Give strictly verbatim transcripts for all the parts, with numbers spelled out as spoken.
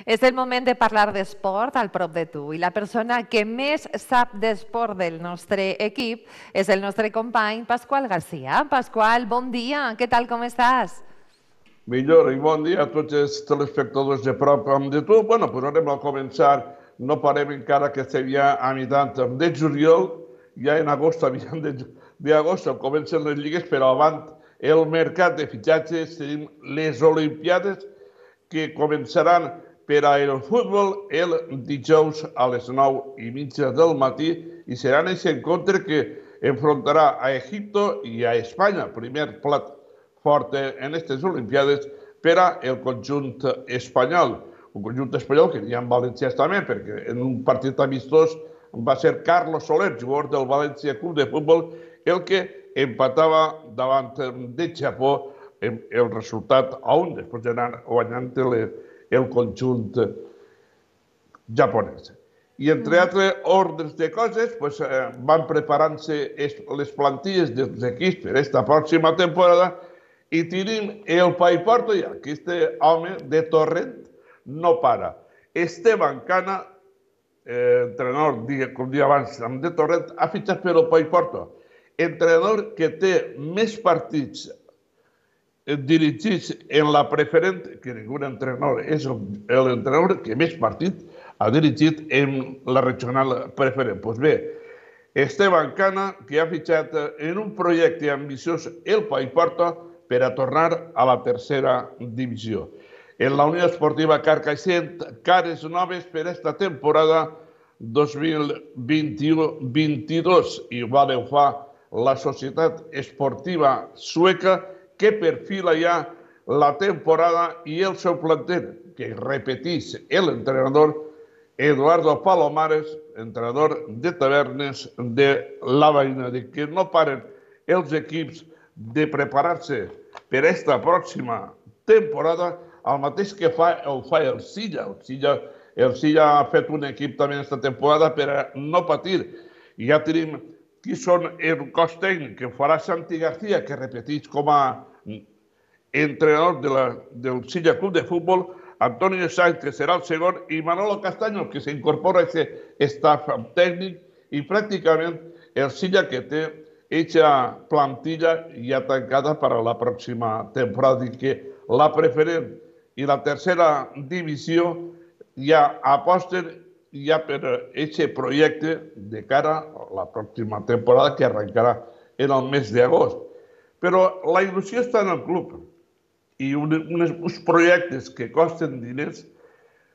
És el moment de parlar d'esport al prop de tu i la persona que més sap d'esport del nostre equip és el nostre company Pasqual Garcia. Pasqual, bon dia, què tal, com estàs? Millor i bon dia a tots els telespectadors de prop de tu. Bueno, pues anem a començar. No parem encara que estem ja a mitant de juliol, ja en agost, a mitjan d'agost comencen les lligues, però abans el mercat de fitxatges tenim les Olimpiades que començaran per a el futbol el dijous a les nou i mitja del matí i seran aquest encontre que enfrontarà a Egipto i a Espanya, primer plat fort en aquestes Olimpiades per al conjunt espanyol. Un conjunt espanyol que n'hi ha en valencians també, perquè en un partit amistós va ser Carlos Soler, jugador del València Club de Futbol, el que empatava davant de Japó el resultat a un, després d'anar guanyant el conjunt japonès. I entre altres ordres de coses, van preparant-se les plantilles dels equips per aquesta pròxima temporada i tenim el Paiporto ja, que este home de Torrent no para. Esteban Cana, entrenador, com dia abans, de Torrent, ha fitxat per el Paiporto. Entrenador que té més partits dirigits en la preferent, que ningú entrenador és l'entrenador que més partits ha dirigit en la regional preferent. Doncs bé, Esteban Cana, que ha fitxat en un projecte ambiciós el Paiporto per a tornar a la tercera divisió. En la Unió Esportiva Carcaixent, cares noves per a aquesta temporada dos mil vint-i-u vint-i-dos. Igual ho fa la Societat Esportiva Sueca, que perfila ja la temporada i el seu planter, que repeteix l'entrenador Eduardo Palomares, entrenador de Tavernes de la Veïna, que no paren els equips de preparar-se per a aquesta pròxima temporada, el mateix que fa el Silla. El Silla ha fet un equip també aquesta temporada per a no patir. I ja tenim qui són el cos tècnic que farà Santi García, que repeteix com a entrenador del Silla Club de Futbol, Antonio Sáenz, que serà el segon, i Manolo Castaño, que s'incorpora a aquest staff tècnic, i pràcticament el Silla que té aquesta plantilla ja tancada per a la pròxima temporada, i que la preferent i la tercera divisió ja aposten ja per aquest projecte de cara a la pròxima temporada que arrencarà en el mes d'agost. Però la il·lusió està en el club i uns projectes que costen diners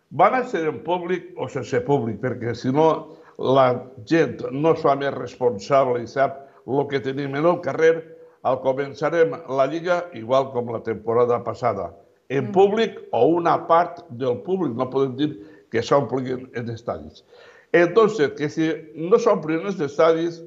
van a ser en públic o sense públic, perquè si no la gent no es fa més responsable i sap el que tenim en el carrer, el començarem la Lliga igual com la temporada passada, en públic o una part del públic, no podem dir que s'omplin els estadis. Entonces, que si no s'omplin els estadis,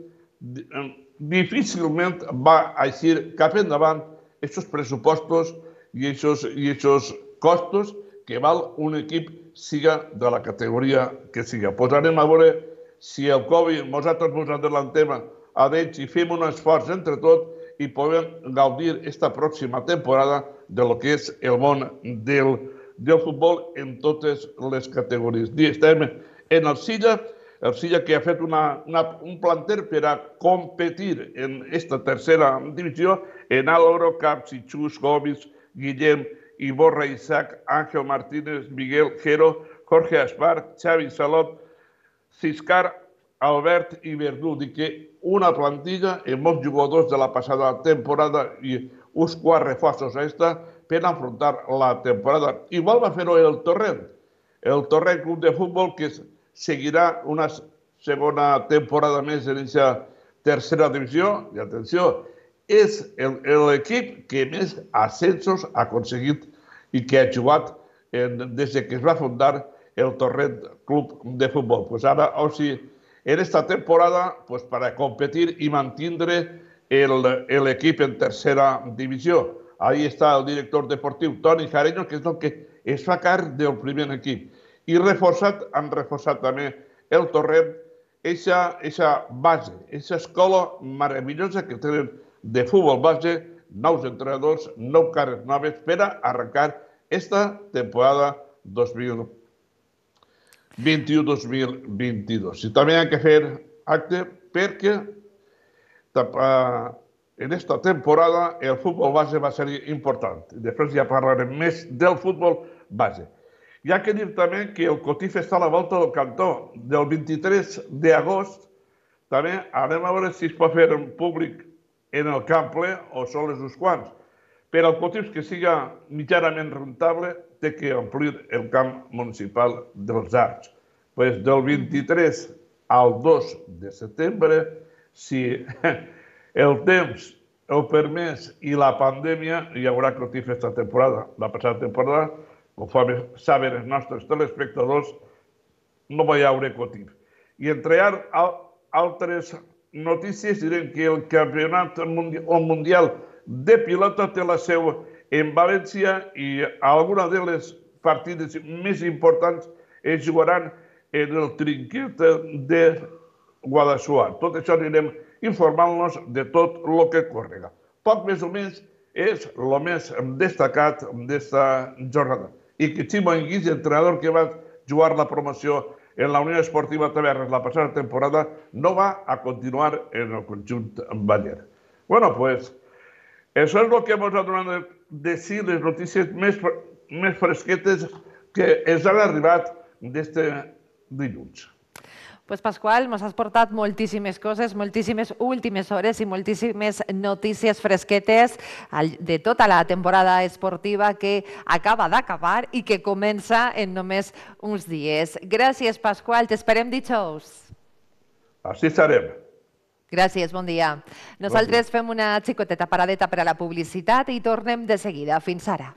difícilment va eixir cap endavant aquests pressupostos i aquests costos que val un equip siga de la categoria que siga. Pues anem a veure si el Covid nosaltres ens adelantem a d'ells i fem un esforç entre tots i podem gaudir aquesta pròxima temporada de lo que és el món del futbol en totes les categories. Estem en el Silla, el Silla que ha fet un planter per a competir en aquesta tercera divisió en Álvaro, Capsi, Xus, Gomis, Guillem, Iborra, Isaac, Ángel Martínez, Miguel Jero, Jorge Aspar, Xavi Salot, Ciscar, Albert i Verdú. Dic que una plantilla amb molts jugadors de la passada temporada i uns quants reforços a aquesta per afrontar la temporada. Igual va fer-ho el Torrent, el Torrent Club de Futbol, que seguirà una segona temporada més en aquesta tercera divisió. I atenció, és l'equip que més ascensos ha aconseguit i que ha jugat des que es va fundar el Torrent Club de Futbol. Pues ara, o sigui, en esta temporada, pues para competir y mantener el equip en tercera divisió. Ahí está el director deportiu, Toni Jareño, que és el que es fa càrrec del primer equip. I reforçat, han reforçat també el Torrent, aquesta base, aquesta escola meravellosa que tenen de futbol base, nous entrenadors, nou cares noves per a arrencar esta temporada dos mil vint-i-u dos mil vint-i-dos. I també hem de fer acte perquè en esta temporada el futbol base va ser important. Després ja parlarem més del futbol base. Hi ha que dir també que el Cotif està a la volta del cantó. Del vint-i-tres d'agost també anem a veure si es pot fer en públic en el camp ple o sols uns quants. Per al Cotif que siga mitjanament rentable té que omplir el camp municipal dels Arcs. Pues del vint-i-tres al dos de setembre, si el temps ho permès i la pandèmia, hi haurà Cotif aquesta temporada. La passada temporada, com saben els nostres telespectadors, no va haver Cotif. I entre altres notícies direm que el campionat mundial de pilota té la seu en València i algunes de les partides més importants es jugaran en el trinquet de Guadassuar. Tot això anirem informant-nos de tot el que correga. Poc més o menys és el més destacat d'esta jornada. I que Ximo Enguís, entrenador que va jugar la promoció en la Unió Esportiva Tavernes la passada temporada, no va a continuar en el conjunt baller. Bueno, pues, això és el que ens ha donat de si les notícies més fresquetes que ens han arribat d'este dilluns. Pues Pasqual, ens has portat moltíssimes coses, moltíssimes últimes hores i moltíssimes notícies fresquetes de tota la temporada esportiva que acaba d'acabar i que comença en només uns dies. Gràcies, Pasqual, t'esperem dijous. Així estarem. Gràcies, bon dia. Nosaltres fem una xicoteta paradeta per a la publicitat i tornem de seguida. Fins ara.